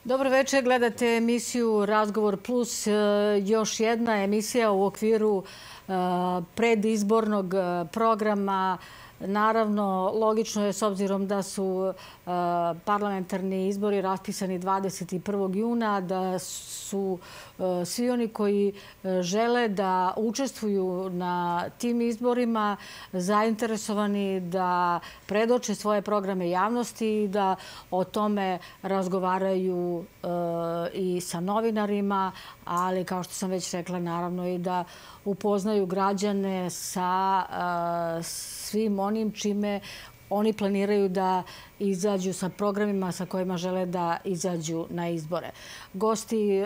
Dobro večer, gledate emisiju Razgovor plus, još jedna emisija u okviru predizbornog programa. Naravno, logično je s obzirom da su parlamentarni izbori raspisani 21. juna, da su svi oni koji žele da učestvuju na tim izborima zainteresovani da predoče svoje programe javnosti i da o tome razgovaraju i sa novinarima, ali kao što sam već rekla, naravno i da upoznaju građane sa svim onim čime oni planiraju da izađu sa programima sa kojima žele da izađu na izbore. Gosti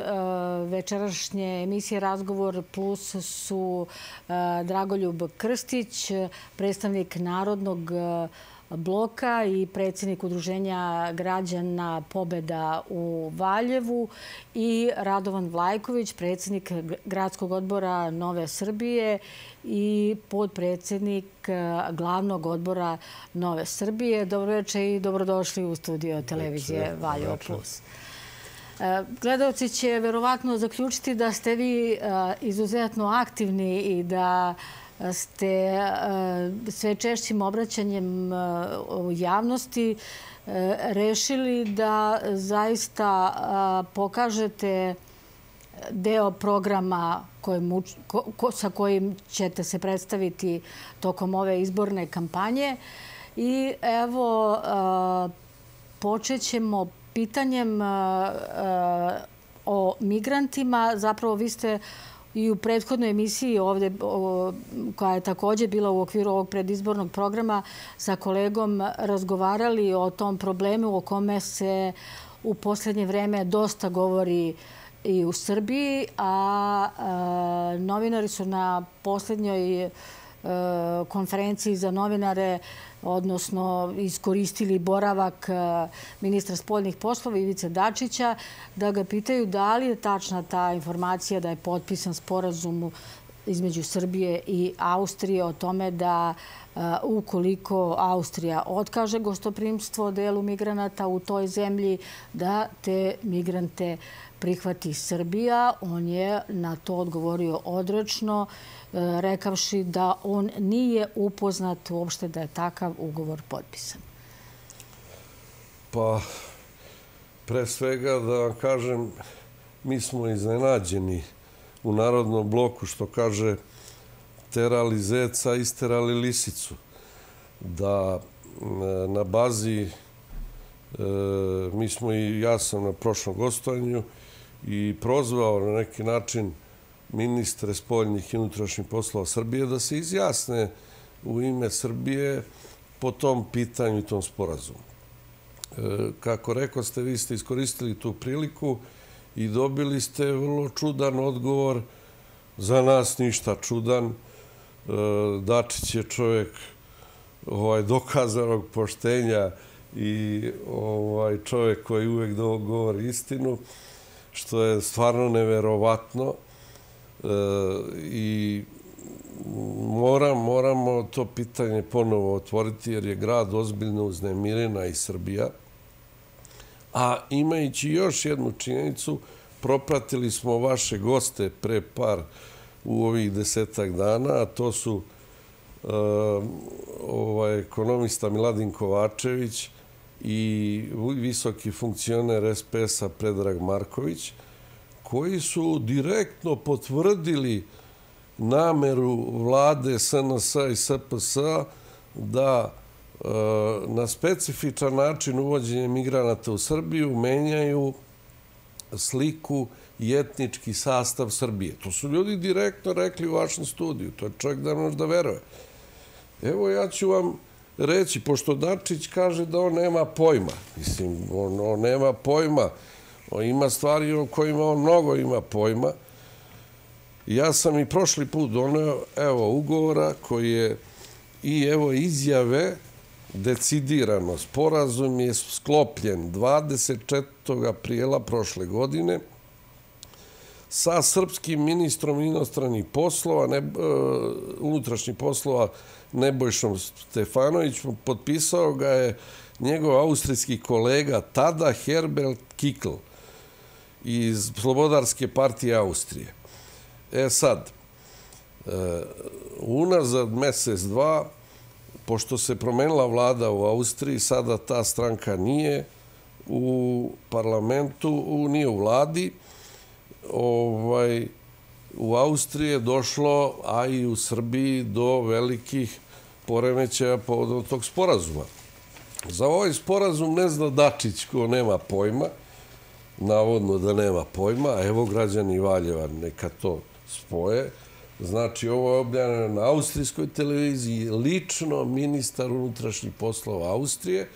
večerašnje emisije Razgovor plus su Dragoljub Krstić, predstavnik Narodnog bloka i predsjednik Udruženja građana Pobeda u Valjevu, i Radovan Vlajković, predsjednik Gradskog odbora Nove Srbije i podpredsjednik Glavnog odbora Nove Srbije. Dobro večer i dobrodošli u studio televizije Valjevo plus. Gledaoci će verovatno zaključiti da ste vi izuzetno aktivni i da ste sve češćim obraćanjem u javnosti rešili da zaista pokažete deo programa sa kojim ćete se predstaviti tokom ove izborne kampanje. I evo, počet ćemo pitanjem o migrantima. Zapravo, vi ste i u prethodnoj emisiji ovde, koja je također bila u okviru ovog predizbornog programa, sa kolegom razgovarali o tom problemu o kome se u posljednje vreme dosta govori i u Srbiji, a novinari su na posljednjoj konferenciji za novinare, odnosno iskoristili boravak ministra spoljnih poslova Ivice Dačića, da ga pitaju da li je tačna ta informacija da je potpisan sporazum između Srbije i Austrije o tome da ukoliko Austrija otkaže gostoprimstvo delu migranata u toj zemlji, da te migrante prihvati Srbija. On je na to odgovorio odrečno, rekavši da on nije upoznat uopšte da je takav ugovor potpisan. Pa, pre svega da vam kažem, mi smo iznenađeni u Narodnom bloku, što kaže terali zeca, isterali lisicu. Da na bazi, ja sam na prošlom gostovanju i prozvao na neki način ministre spoljnih i unutrašnjih poslova Srbije da se izjasne u ime Srbije po tom pitanju i tom sporazumu. Kako rekao ste, vi ste iskoristili tu priliku i dobili ste vrlo čudan odgovor, za nas ništa čudan. Dačić je čovjek dokazanog poštenja i čovjek koji uvijek govori istinu, što je stvarno neverovatno. I moramo to pitanje ponovo otvoriti, jer je grad ozbiljno uznemirena i Srbija. A imajući još jednu činjenicu, propratili smo vaše goste pre u ovih 10-ak dana, a to su ekonomista Miladin Kovačević i visoki funkcioner SPS-a Predrag Marković, koji su direktno potvrdili nameru vlade SNS-a i SPS-a da na specifičan način uvođenje migranata u Srbiju menjaju sliku i etnički sastav Srbije. To su ljudi direktno rekli u vašem studiju. To je čovjek da možda veruje. Evo, ja ću vam reći, pošto Dačić kaže da on nema pojma. Mislim, on nema pojma. Ima stvari o kojima on mnogo ima pojma. Ja sam i prošli put doneo, ugovora koji je i izjave decidirano. Sporazum je sklopljen 24. aprila prošle godine sa srpskim ministrom inostranih poslova, unutrašnjih poslova Nebojšom Stefanovićem. Potpisao ga je njegov austrijski kolega tada Herbert Kickl. iz Slobodarske partije Austrije. Sad, unazad mjesec, dva, pošto se promenila vlada u Austriji, sada ta stranka nije u parlamentu, nije u vladi. U Austriji je došlo, a i u Srbiji, do velikih poremećaja povodom tog sporazuma. Za ovaj sporazum ne zna Dačić, ko nema pojma, navodno da nema pojma, a evo građani Valjeva neka to spoje. Znači, ovo je objavljeno na austrijskoj televiziji, lično ministar unutrašnjih poslova Austrije,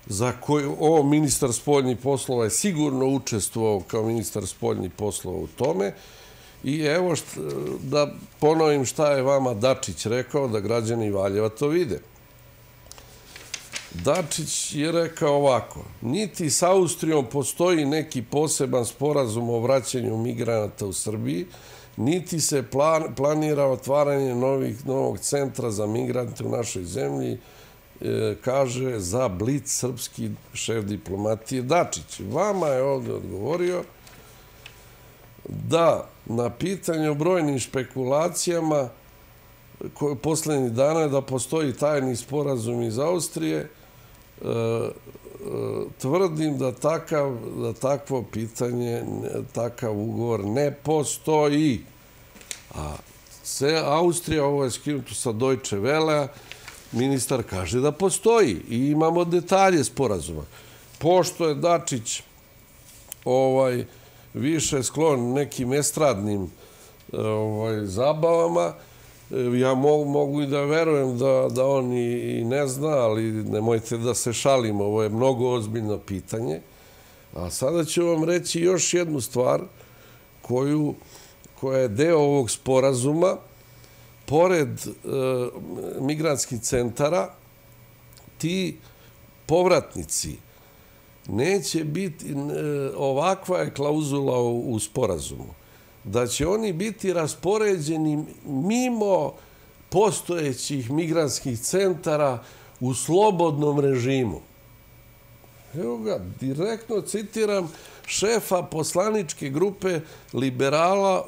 za koju ovo ministar spoljnih poslova je sigurno učestvovao kao ministar spoljnih poslova u tome. I evo da ponovim šta je vama Dačić rekao, da građani Valjeva to vide. Dačić je rekao ovako: niti s Austrijom postoji neki poseban sporazum o vraćanju migranata u Srbiji, niti se planira otvaranje novog centra za migrante u našoj zemlji, kaže za Blic srpski šef diplomatije Dačić. Vama je ovdje odgovorio da na pitanje o brojnim špekulacijama posljednjih dana je da postoji tajni sporazum iz Austrije, tvrdim da takvo pitanje, takav ugovor ne postoji. A Austrija, ovo je skinuto sa Deutsche Wellea, ministar kaže da postoji i imamo detalje sporazuma. Pošto je Dačić više sklon nekim estradnim zabavama, ja mogu i da verujem da on i ne zna, ali nemojte da se šalimo, ovo je mnogo ozbiljno pitanje. A sada ću vam reći još jednu stvar koja je deo ovog sporazuma. Pored migrantskih centara, ti povratnici neće biti, ovakva je klauzula u sporazumu, da će oni biti raspoređeni mimo postojećih migrantskih centara u slobodnom režimu. Evo ga, direktno citiram šefa poslaničke grupe liberala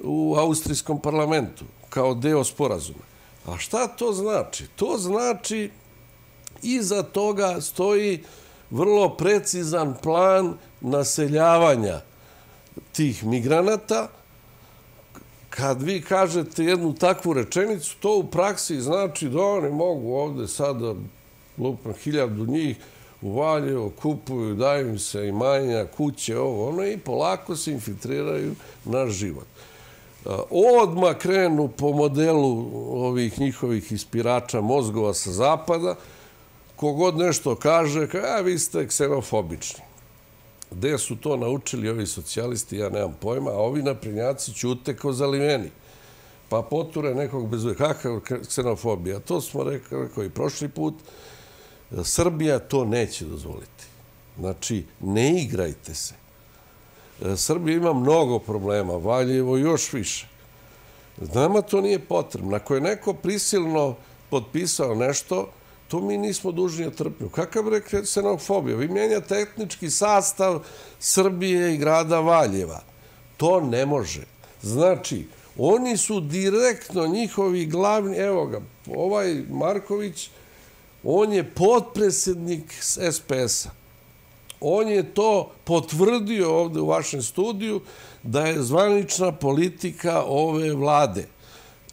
u austrijskom parlamentu, kao deo sporazuma. A šta to znači? To znači, iza toga stoji vrlo precizan plan naseljavanja tih migranata. Kad vi kažete jednu takvu rečenicu, to u praksi znači da oni mogu ovde sada, lupno 1000 njih, u Valjevo kupuju, daju im se imanja, kuće, ovo, ono, i polako se infiltriraju na život. Odmah krenu po modelu ovih njihovih ispirača mozgova sa zapada, kogod nešto kaže, vi ste ksenofobični. Gde su to naučili ovi socijalisti, ja nemam pojma, a ovi naprednjaci ćute kao zaliveni. Pa poture nekog bez uvijek. Kakav ksenofobija? To smo rekao i prošli put. Srbija to neće dozvoliti. Znači, ne igrajte se. Srbija ima mnogo problema, Valjevo još više. Nama to nije potrebno. Ako je neko prisilno potpisao nešto, to mi nismo dužni da trpimo. Kakav je ksenofobija? Vi mijenjate etnički sastav Srbije i grada Valjeva. To ne može. Znači, oni su direktno njihovi glavni... Evo ga, ovaj Marković, on je potpredsjednik SPS-a. On je to potvrdio ovde u vašem studiju da je zvanična politika ove vlade.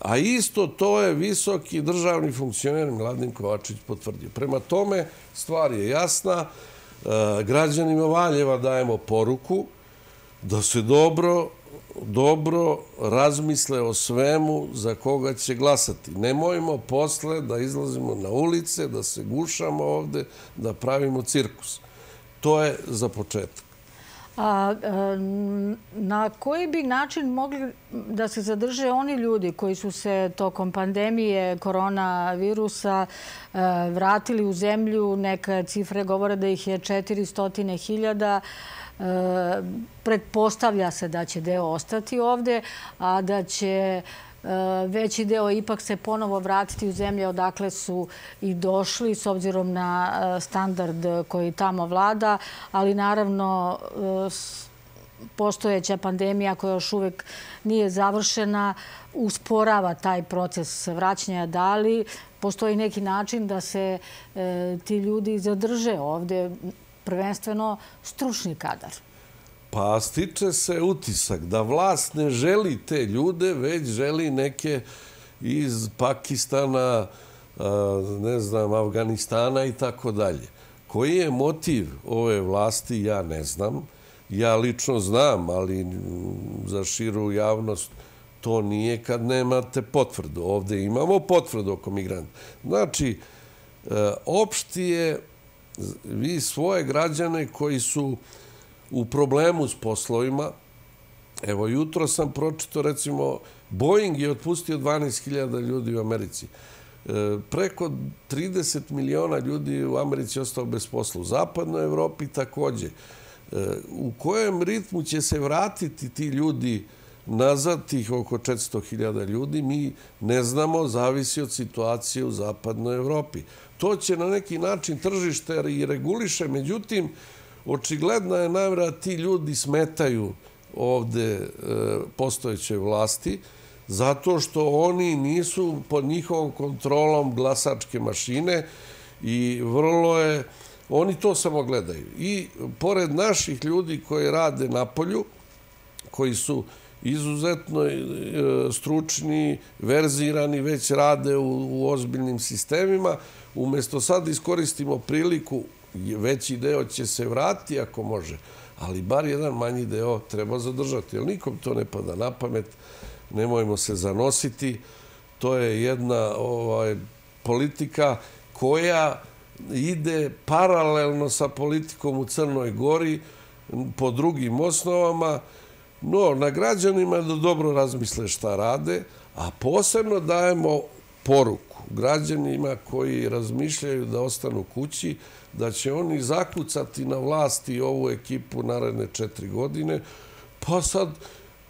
A isto to je visoki državni funkcioner Miladin Kovačević potvrdio. Prema tome, stvar je jasna. Građanima Valjeva dajemo poruku da se dobro razmisle o svemu za koga će glasati. Nemojmo posle da izlazimo na ulice, da se gušamo ovde, da pravimo cirkus. To je za početak. Na koji bi način mogli da se zadrže oni ljudi koji su se tokom pandemije koronavirusa vratili u zemlju? Neka cifre govore da ih je 400.000. Pretpostavlja se da će deo ostati ovde, a da će veći deo ipak se ponovo vratiti u zemlje odakle su i došli s obzirom na standard koji tamo vlada, ali naravno postojeća pandemija koja još uvek nije završena usporava taj proces vraćanja. Da li postoji neki način da se ti ljudi zadrže ovde, prvenstveno stručni kadar? Pa stiče se utisak da vlast ne želi te ljude, već želi neke iz Pakistana, ne znam, Afganistana i tako dalje. Koji je motiv ove vlasti, ja ne znam. Ja lično znam, ali za širu javnost to nije kad nemate potvrdu. Ovde imamo potvrdu oko migranta. Znači, opšti je vi svoje građane koji su u problemu s poslovima. Evo, jutro sam pročitao, recimo, Boeing je otpustio 12.000 ljudi u Americi. Preko 30 miliona ljudi u Americi ostao bez posla. U zapadnoj Evropi takođe. U kojem ritmu će se vratiti ti ljudi nazad, tih oko 400.000 ljudi, mi ne znamo, zavisi od situacije u zapadnoj Evropi. To će na neki način tržište i reguliše, međutim, očigledna je namera da ti ljudi smetaju ovde postojećoj vlasti, zato što oni nisu pod njihovom kontrolom glasačke mašine i vrlo je... Oni to samo gledaju. I pored naših ljudi koji rade napolju, koji su izuzetno stručni, verzirani, već rade u ozbiljnim sistemima, umjesto sad iskoristimo priliku, veći deo će se vratiti ako može, ali bar jedan manji deo treba zadržati. Jer nikom to ne pada na pamet, nemojmo se zanositi. To je jedna politika koja ide paralelno sa politikom u Crnoj Gori po drugim osnovama, no na građanima da dobro razmisle šta rade, a posebno dajemo poruku građanima koji razmišljaju da ostanu kući, da će oni zakucati na vlasti ovu ekipu naredne 4 godine, pa sad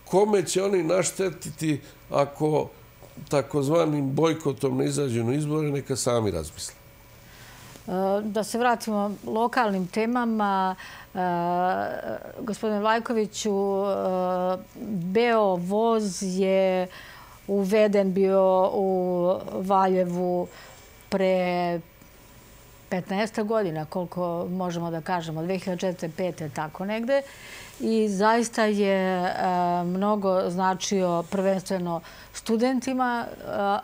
kome će oni naštetiti ako takozvanim bojkotom ne izađu na izbore, neka sami razmisle. Da se vratimo lokalnim temama. Gospodine Vlajkoviću, Beovoz je uveden bio u Valjevu pre 15 godina, koliko možemo da kažemo, 2004-2005, tako negde. I zaista je mnogo značio prvenstveno studentima,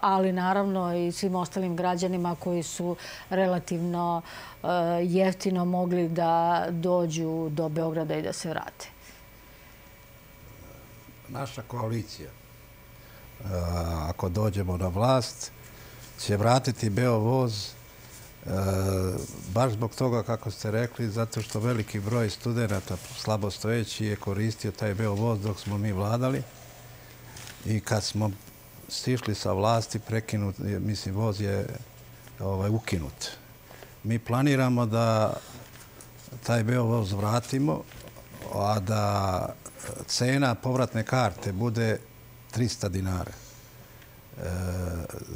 ali naravno i svim ostalim građanima koji su relativno jeftino mogli da dođu do Beograda i da se vrate. Naša koalicija, ako dođemo na vlast, će vratiti Beovoz baš zbog toga, kako ste rekli, zato što veliki broj studenta slabostojeći je koristio taj Beovoz dok smo mi vladali i kad smo stišli sa vlasti, prekinut, mislim, voz je ukinut. Mi planiramo da taj Beovoz vratimo, a da cena povratne karte bude 300 dinara.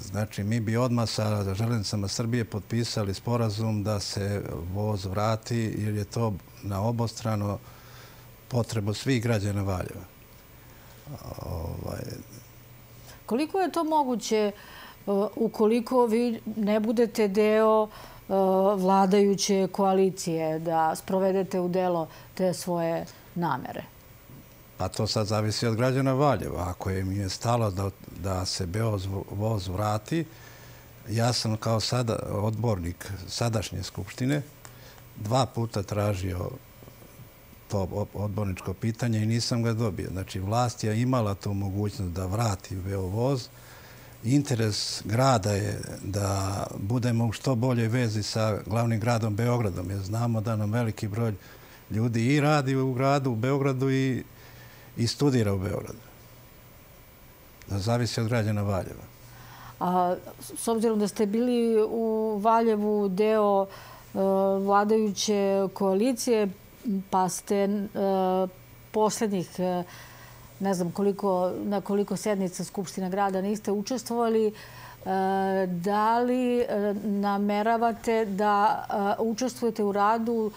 Znači, mi bi odmah sa Železnicama Srbije potpisali sporazum da se voz vrati, jer je to na obostrano potrebu svih građana Valjeva. Koliko je to moguće ukoliko vi ne budete deo vladajuće koalicije da sprovedete u delo te svoje namere? Pa to sad zavisi od građana Valjeva. Ako im je stalo da se Beovoz vrati, ja sam kao odbornik sadašnje skupštine 2 puta tražio to odborničko pitanje i nisam ga dobio. Znači, vlast je imala tu mogućnost da vrati Beovoz. Interes grada je da budemo u što boljoj vezi sa glavnim gradom Beogradom, jer znamo da nam veliki broj ljudi i radi u gradu, u Beogradu i studira u Beogradu. Da zavisi od građana Valjeva. A s obzirom da ste bili u Valjevu deo vladajuće koalicije, pa ste poslednjih ne znam na koliko sednica Skupštine grada niste učestvovali. Da li nameravate da učestvujete u radu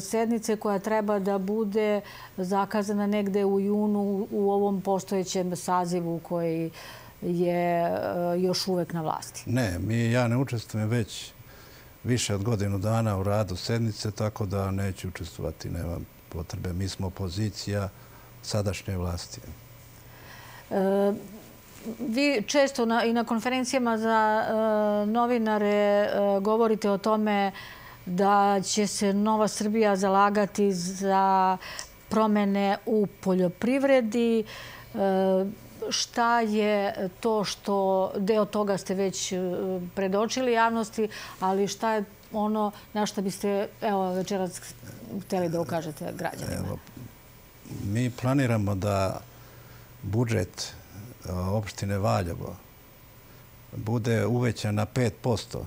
sednice koja treba da bude zakazana negde u junu u ovom postojećem sazivu koji je još uvek na vlasti? Ne, ja ne učestvujem već više od godinu dana u radu sednice, tako da neću učestvovati, nema potrebe. Mi smo opozicija sadašnje vlasti. Vi često i na konferencijama za novinare govorite o tome da će se Nova Srbija zalagati za promene u poljoprivredi. Šta je to što, deo toga ste već predočili javnosti, ali šta je ono na što biste večeras htjeli da ukažete građanima? Mi planiramo da budžet opštine Valjevo bude uvećan na 5%,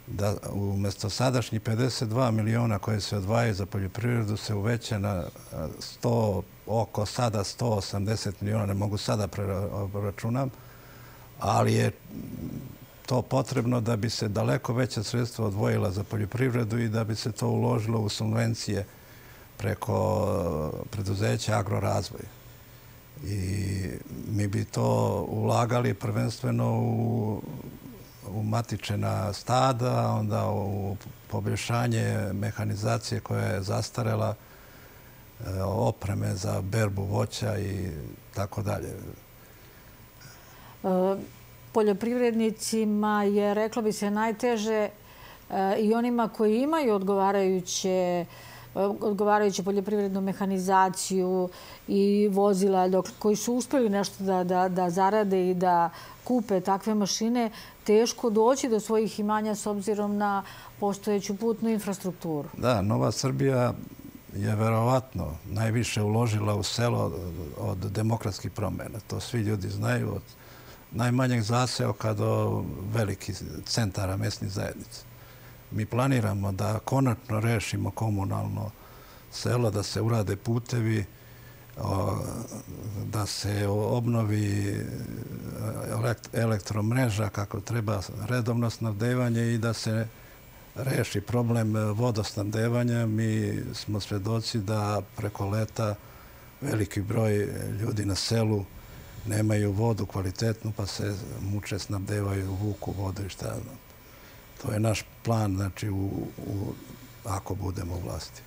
da umjesto sadašnjih 52 miliona koje se odvajaju za poljoprivredu se uveća na oko sada 180 miliona, ne mogu sada preračunam, ali je to potrebno da bi se daleko veća sredstva odvojila za poljoprivredu i da bi se to uložilo u subvencije preko preduzeća Agrorazvoj. I mi bi to ulagali prvenstveno u matičena stada, onda u poboljšanje mehanizacije koja je zastarela, opreme za berbu voća i tako dalje. Poljoprivrednicima je, reklo bi se, najteže i onima koji imaju odgovarajuću poljoprivrednu mehanizaciju i vozila, koji su uspjeli nešto da zarade i da kupe takve mašine, teško doći do svojih imanja s obzirom na postojeću putnu infrastrukturu. Da, Nova Srbija je verovatno najviše uložila u selo od demokratskih promjena. To svi ljudi znaju, od najmanjeg zaseoka do velikih centara mesnih zajednica. Mi planiramo da konačno rešimo komunalno selo, da se urade putevi, da se obnovi elektromreža kako treba, redovno snabdevanje i da se reši problem vodosnabdevanja. Mi smo svedoci da preko leta veliki broj ljudi na selu nemaju vodu kvalitetnu pa se muče snabdevaju, vuku vodu i šta. To je naš plan, znači, ako budemo u vlasti.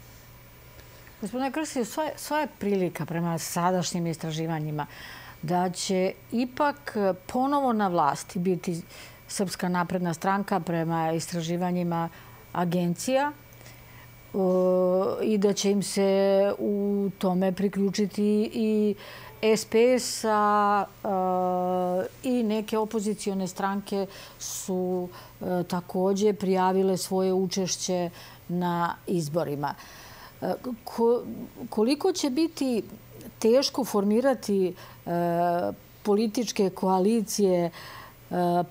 Gospodine Krstiću, sva je prilika prema sadašnjim istraživanjima da će ipak ponovo na vlasti biti Srpska napredna stranka prema istraživanjima agencija i da će im se u tome priključiti i SPS i neke opozicione stranke su također prijavile svoje učešće na izborima. Koliko će biti teško formirati političke koalicije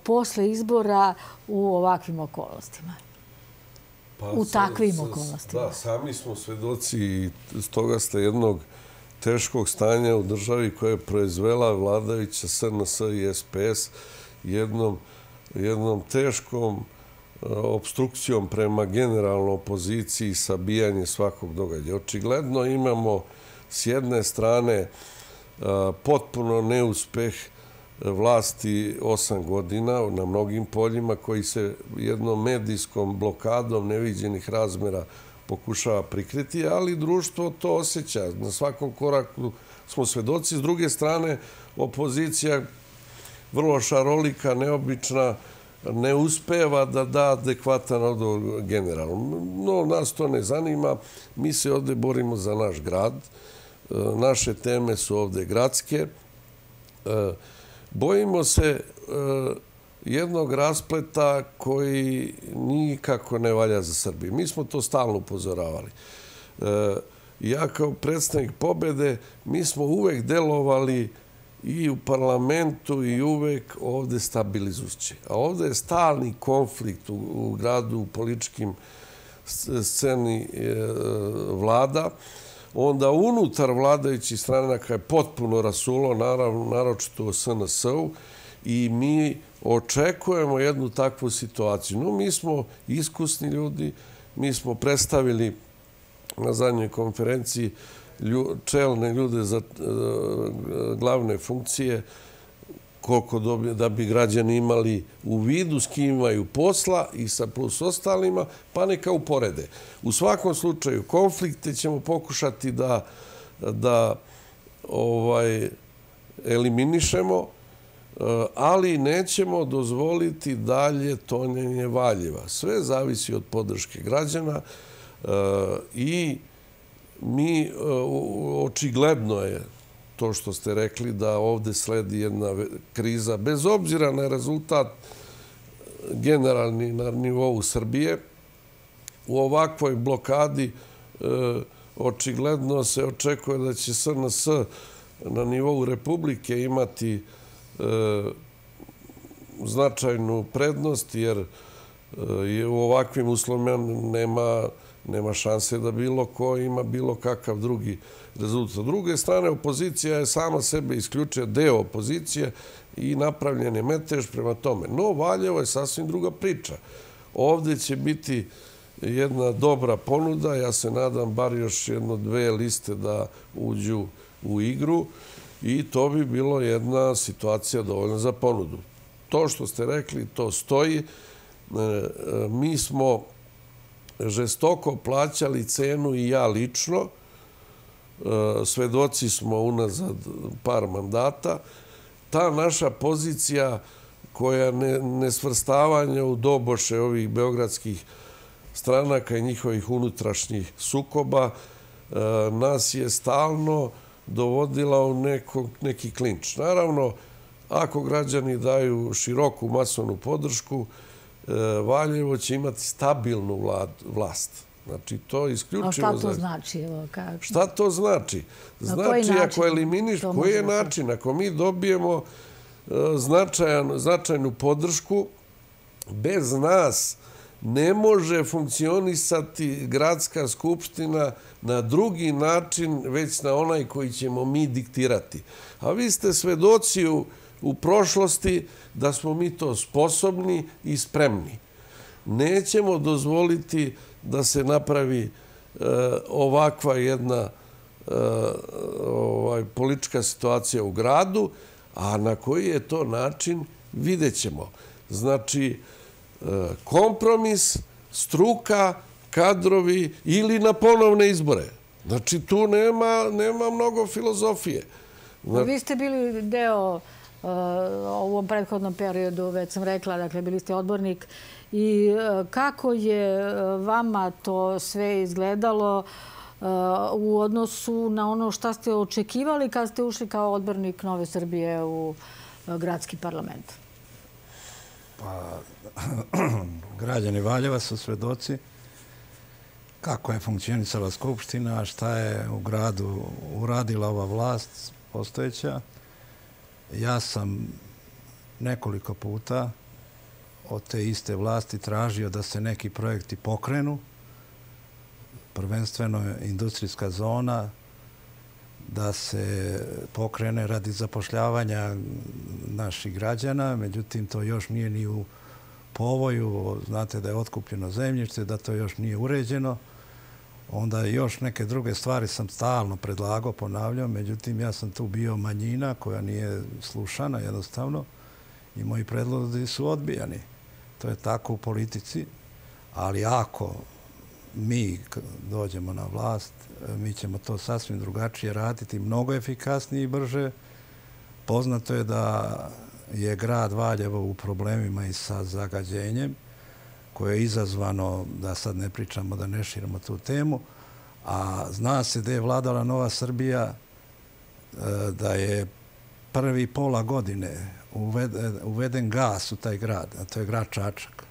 posle izbora u ovakvim okolnostima? U takvim okolnostima. Da, sami smo svedoci i stoga ste jednog teškog stanja u državi koja je proizvela vladajuća SNS i SPS jednom teškom obstrukcijom prema generalnoj opoziciji i sabijanje svakog događaja. Očigledno imamo s jedne strane potpuno neuspeh vlasti 8 godina na mnogim poljima koji se jednom medijskom blokadom neviđenih razmera pokušava prikriti, ali društvo to osjeća. Na svakom koraku smo svedoci. S druge strane, opozicija vrlo šarolika, neobična, ne uspeva da da adekvatan odgovor generalno. No, nas to ne zanima. Mi se ovdje borimo za naš grad. Naše teme su ovdje gradske. Bojimo se jednog raspleta koji nikako ne valja za Srbiju. Mi smo to stalno upozoravali. Ja kao predstavnik Pobede, mi smo uvek delovali i u parlamentu i uvek ovdje stabilizujući. A ovdje je stalni konflikt u gradu, u političkim sceni vlada. onda unutar vladajućih stranaka je potpuno rasulo, naročito u SNS-u, i mi očekujemo jednu takvu situaciju. No, mi smo iskusni ljudi, mi smo predstavili na zadnjoj konferenciji čelne ljude za glavne funkcije, koliko da bi građani imali u vidu s kim imaju posla i sa plus ostalima, pa neka uporede. U svakom slučaju, konflikte ćemo pokušati da eliminišemo, ali nećemo dozvoliti dalje tonjenje Valjeva. Sve zavisi od podrške građana i mi, očigledno je to što ste rekli, da ovde sledi jedna kriza, bez obzira na rezultat generalni na nivou Srbije. U ovakvoj blokadi očigledno se očekuje da će SNS na nivou Republike imati značajnu prednost, jer u ovakvim uslovima nema šanse da bilo ko ima bilo kakav drugi rezultat. S druge strane, opozicija je sama sebe isključila, deo opozicije, i napravljen je metež prema tome. No, Valjevo je sasvim druga priča. Ovde će biti jedna dobra ponuda. Ja se nadam bar još 1-2 liste da uđu u igru i to bi bilo jedna situacija dovoljna za ponudu. To što ste rekli, to stoji. Mi smo žestoko plaćali cenu, i ja lično. Svedoci smo unazad par mandata. Ta naša pozicija, koja nesvrstavanja u doboše ovih beogradskih stranaka i njihovih unutrašnjih sukoba, nas je stalno dovodila u neki klinč. Naravno, ako građani daju široku masovnu podršku, Valjevo će imati stabilnu vlast. Znači, to isključivo... A šta to znači? Šta to znači? Znači, ako eliminiš, koji je način? Ako mi dobijemo značajnu podršku, bez nas ne može funkcionisati gradska skupština na drugi način, već na onaj koji ćemo mi diktirati. A vi ste svedoci u prošlosti da smo mi to sposobni i spremni. Nećemo dozvoliti da se napravi ovakva jedna politička situacija u gradu, a na koji je to način vidjet ćemo. Znači, kompromis, struka, kadrovi ili na ponovne izbore. Znači, tu nema mnogo filozofije. Vi ste bili deo u ovom prethodnom periodu, već sam rekla, dakle, bili ste odbornik. I kako je vama to sve izgledalo u odnosu na ono šta ste očekivali kad ste ušli kao odbornik Nove Srbije u gradski parlament? Pa, građani Valjeva su svedoci kako je funkcionisala Skupština, šta je u gradu uradila ova vlast postojeća. Ja sam nekoliko puta od te iste vlasti tražio da se neki projekti pokrenu, prvenstveno industrijska zona, da se pokrene radi zapošljavanja naših građana, međutim to još nije ni u povoju, znate da je otkupljeno zemljište, da to još nije uređeno. Onda još neke druge stvari sam stalno predlagao, ponavljao, međutim ja sam tu bio manjina koja nije slušana jednostavno i moji predlozi su odbijani. To je tako u politici, ali ako mi dođemo na vlast, mi ćemo to sasvim drugačije raditi, mnogo efikasnije i brže. Poznato je da je grad Valjevo u problemima i sa zagađenjem, koje je izazvano, da sad ne pričamo, da ne širimo tu temu, a zna se da je vladala Nova Srbija, da je prvi pola godine uveden gas u taj grad, a to je grad Čačak.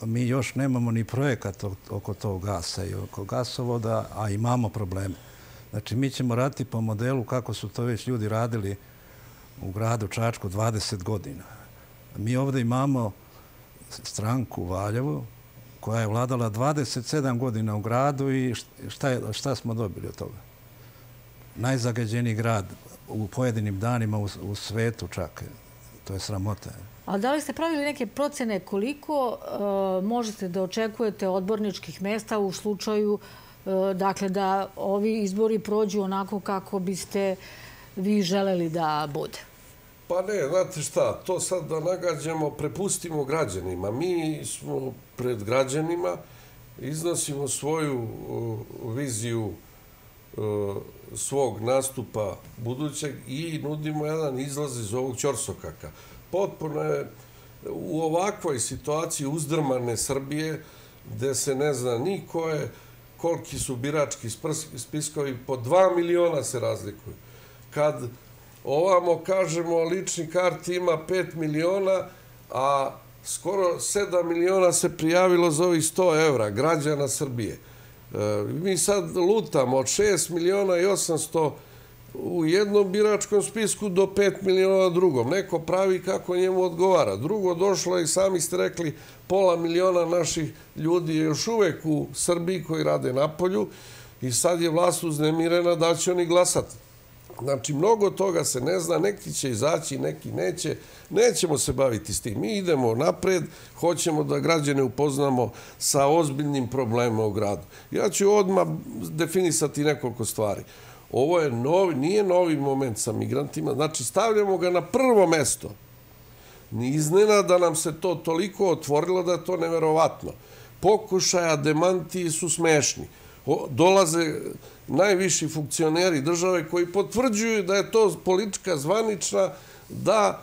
Mi još nemamo ni projekat oko tog gasa i oko gasovoda, a imamo probleme. Znači, mi ćemo raditi po modelu kako su to već ljudi radili u gradu Čačku 20 godina. Mi ovdje imamo stranku u Valjevu koja je vladala 27 godina u gradu i šta smo dobili od toga? Najzagađeniji grad u pojedinim danima u svetu čak. To je sramota. A da li ste pravili neke procene koliko možete da očekujete odborničkih mesta u slučaju dakle, da ovi izbori prođu onako kako biste vi želeli da bude? Pa ne, znate šta, to sad da nagađamo, prepustimo građanima. Mi smo pred građanima, iznosimo svoju viziju svog nastupa budućeg i nudimo jedan izlaz iz ovog ćorsokaka. Potpuno je u ovakvoj situaciji uzdrmane Srbije, gde se ne zna ni koliki su birački spiskovi, po 2 miliona se razlikuju. Kad ovamo kažemo lični karti ima 5 miliona, a skoro 7 miliona se prijavilo za ovih 100 evra građana Srbije. Mi sad lutamo od 6 miliona i 800 u jednom biračkom spisku do 5 miliona drugom. Neko pravi kako njemu odgovara. Drugo, došlo je, i sami ste rekli, pola miliona naših ljudi je još uvek u Srbiji koji rade napolju i sad je vlast uznemirena da će oni glasati. Znači, mnogo toga se ne zna, neki će izaći, neki neće. Nećemo se baviti s tim. Mi idemo napred, hoćemo da građane upoznamo sa ozbiljnim problemima u gradu. Ja ću odmah definisati nekoliko stvari. Ovo je nije novi moment sa migrantima, znači stavljamo ga na prvo mesto. Iznenada nam se to toliko otvorilo da je to neverovatno. Pokušaja demantiji su smešni. Dolaze najviši funkcioneri države koji potvrđuju da je to politika zvanična da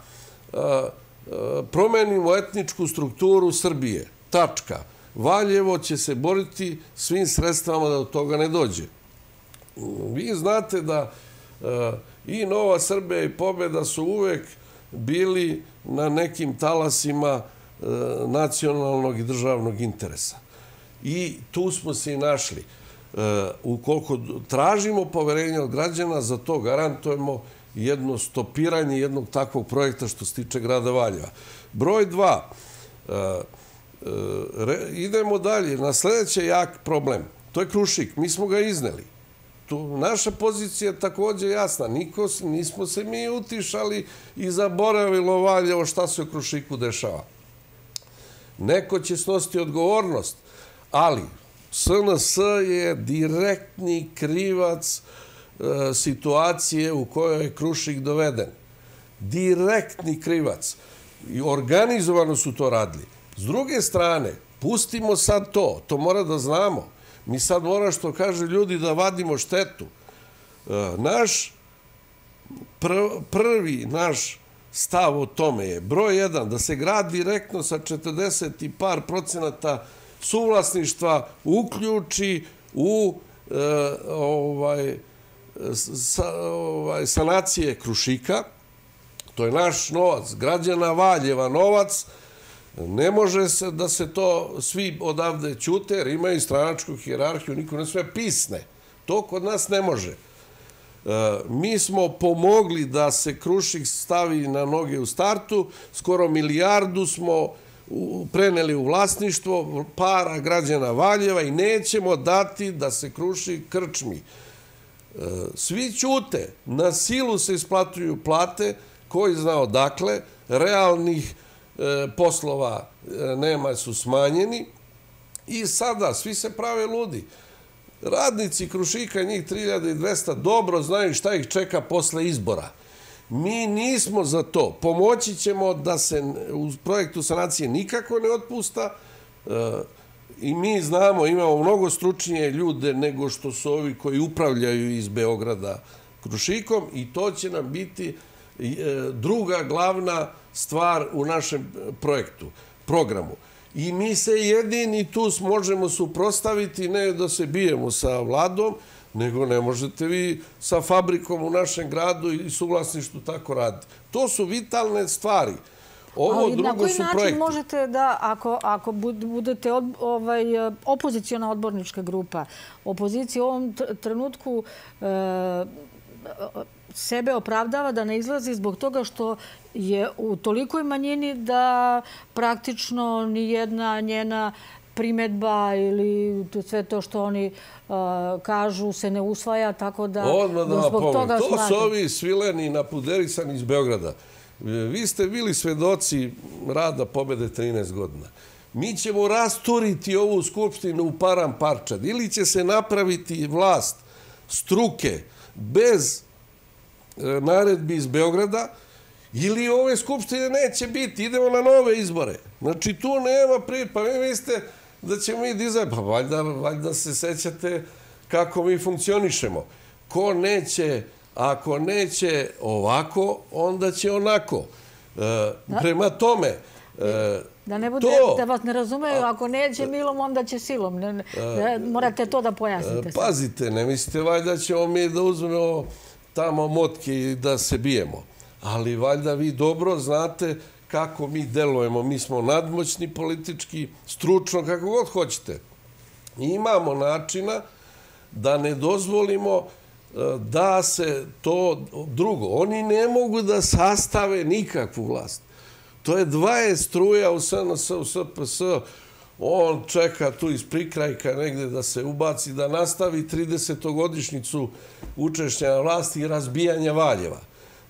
promenimo etničku strukturu Srbije. Tačka. Valjevo će se boriti svim sredstvama da do toga ne dođe. Vi znate da i Nova Srbija i Pobeda su uvek bili na nekim talasima nacionalnog i državnog interesa. I tu smo se i našli. Ukoliko tražimo poverenje od građana, za to garantujemo jedno stopiranje jednog takvog projekta što se tiče grada Valjeva. Broj 2. Idemo dalje. Na sljedeći jak problem. To je Krušik. Mi smo ga izneli. Naša pozicija je također jasna. Nismo se mi utišali i zaboravilo Valjevo šta se u Krušiku dešava. Neko će snositi odgovornost, ali SNS je direktni krivac situacije u kojoj je Krušik doveden. Direktni krivac. I organizovano su to radili. S druge strane, pustimo sad to. To mora da znamo. Mi sad mora, što kaže ljudi, da vadimo štetu. Prvi naš stav o tome je broj 1, da se grad direktno sa 40 i par procenata suvlasništva uključi u sanacije Krušika. To je naš novac, građana Valjeva novac. Ne može se da se to svi odavde ćute, jer imaju stranačku hijerarhiju, niko ne sve pisne. To kod nas ne može. Mi smo pomogli da se Krušik stavi na noge u startu, skoro 1 milijardu smo preneli u vlasništvo para građana Valjeva i nećemo dati da se Krušik krčmi. Svi ćute, na silu se isplatuju plate, koji zna odakle, realnih poslova nema, su smanjeni i sada svi se prave ludi. Radnici Krušika, njih 3200, dobro znaju šta ih čeka posle izbora. Mi nismo za to. Pomoći ćemo da se u projektu sanacije nikako ne otpusta i mi znamo, imamo mnogo stručnije ljude nego što su ovi koji upravljaju iz Beograda Krušikom i to će nam biti druga glavna stvar u našem programu. I mi se jedini tu možemo suprostaviti, ne da se bijemo sa vladom, nego ne možete vi sa fabrikom u našem gradu i suvlasništvu tako raditi. To su vitalne stvari. Ovo drugo su projekti. Na koji način možete da, ako budete opozicijona odbornička grupa, opozicija u ovom trenutku sebe opravdava da ne izlazi zbog toga što je u tolikoj manjini da praktično nijedna njena primjedba ili sve to što oni kažu se ne usvaja, tako da zbog toga smatram. To su smatram. ovi svileni napuderisani iz Beograda. Vi ste bili svedoci rada Pobede 13 godina. Mi ćemo rasturiti ovu skupštinu u param parčad. Ili će se napraviti vlast struke bez naredbi iz Beograda, ili ove skupštine neće biti. Idemo na nove izbore. Znači, tu nema prije. Pa vi mislite da ćemo mi dizati. Pa valjda se sećate kako mi funkcionišemo. Ko neće, ako neće ovako, onda će onako. Prema tome, da ne bude, da vas ne razumeju, ako neće milom, onda će silom. Morate to da pojasnite. Pazite, ne mislite valjda ćemo mi da uzmemo tamo motke i da se bijemo. Ali valjda vi dobro znate kako mi delujemo. Mi smo nadmoćni politički, stručno, kako god hoćete. I imamo načina da ne dozvolimo da se to drugo. Oni ne mogu da sastave nikakvu vlast. To je 20 struja u SNS, u SPS. On čeka tu iz prikrajka negde da se ubaci, da nastavi 30-godišnjicu učešća na vlasti i razbijanja Valjeva.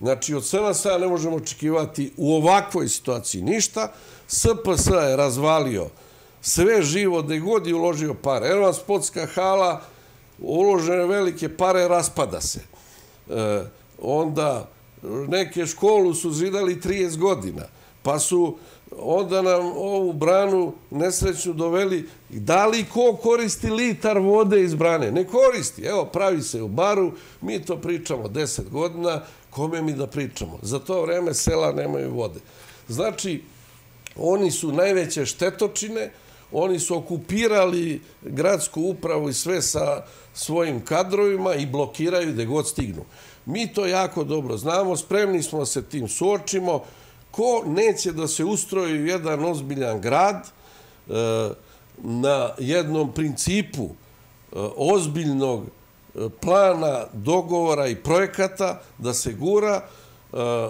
Znači, od SNS-a ne možemo očekivati u ovakvoj situaciji ništa. SPS je razvalio sve živo, gde god je uložio pare. Evo vam sportska hala, uložene velike pare, raspada se. Onda neke školu su zidali 30 godina. Pa su onda nam ovu branu nesrećnu doveli. Da li ko koristi litar vode iz brane? Ne koristi. Evo, pravi se u baru, mi to pričamo 10 godina, kome mi da pričamo? Za to vreme sela nemaju vode. Znači, oni su najveće štetočine, oni su okupirali gradsku upravu i sve sa svojim kadrovima i blokiraju gde god stignu. Mi to jako dobro znamo, spremni smo da se tim suočimo. Ko neće da se ustroji jedan ozbiljan grad na jednom principu ozbiljnog plana, dogovora i projekata da se gura,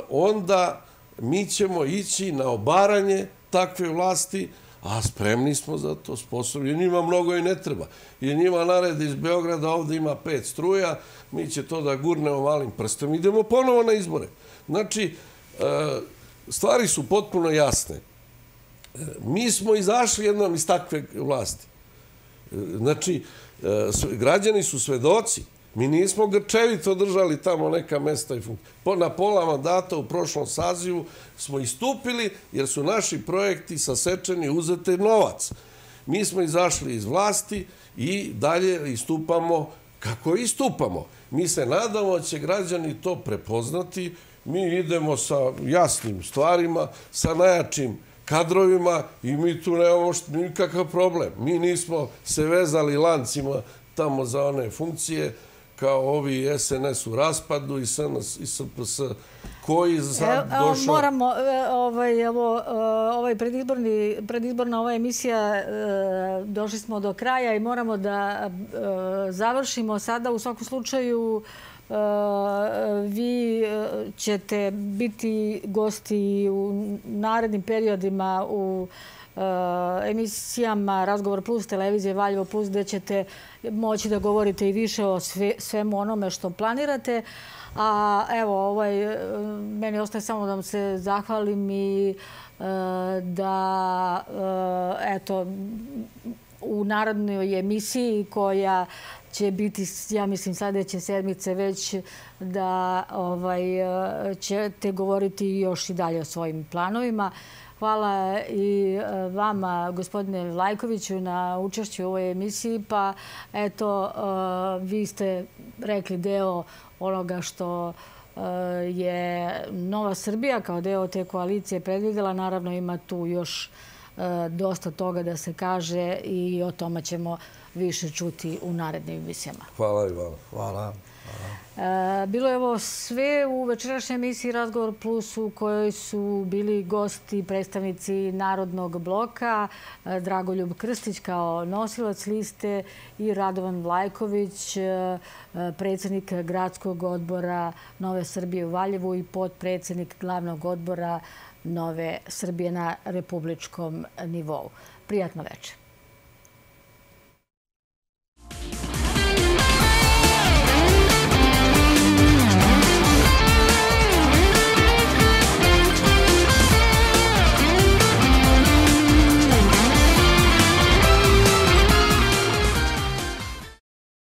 onda mi ćemo ići na obaranje takve vlasti, a spremni smo za to, sposobni. Njima mnogo i ne treba. Jer njima naredi iz Beograda, ovdje ima 5 struja, mi će to da gurnemo malim prstom. Idemo ponovo na izbore. Znači, stvari su potpuno jasne. Mi smo izašli jednom iz takve vlasti. Znači, građani su svedoci. Mi nismo grčevito držali tamo neka mesta i funkcije. Na pola mandata u prošlom sazivu smo istupili jer su naši projekti sasečeni, uzete novac. Mi smo izašli iz vlasti i dalje istupamo kako istupamo. Mi se nadamo da će građani to prepoznati. Mi idemo sa jasnim stvarima, sa najjačim kadrovima i mi tu nemamo nikakav problem. Mi nismo se vezali lancima tamo za one funkcije kao ovi SNS u raspadu i SNS i SPS koji sad došao... Moramo, predizborna ova emisija, došli smo do kraja i moramo da završimo sada. U svakom slučaju, vi ćete biti gosti u narednim periodima u emisijama Razgovor Plus, televizije Valjevo Plus, gde ćete moći da govorite i više o svemu onome što planirate. A evo, meni ostaje samo da vam se zahvalim i da, eto, u narodnoj emisiji koja će biti, ja mislim, sljedeće sedmice već da ćete govoriti još i dalje o svojim planovima. Hvala i vama, gospodine Vlajkoviću, na učešću u ovoj emisiji. Pa, eto, vi ste rekli deo onoga što je Nova Srbija kao deo te koalicije predvidjela. Naravno, ima tu još dosta toga da se kaže i o tome ćemo više čuti u narednim emisijama. Hvala i vama. Hvala. Bilo je ovo sve u večerašnjoj emisiji Razgovor Plus u kojoj su bili gosti predstavnici Narodnog bloka, Dragoljub Krstić kao nosilac liste i Radovan Vlajković, predsjednik Gradskog odbora Nove Srbije u Valjevu i potpredsjednik Glavnog odbora Nove Srbije na republičkom nivou. Prijatno večer.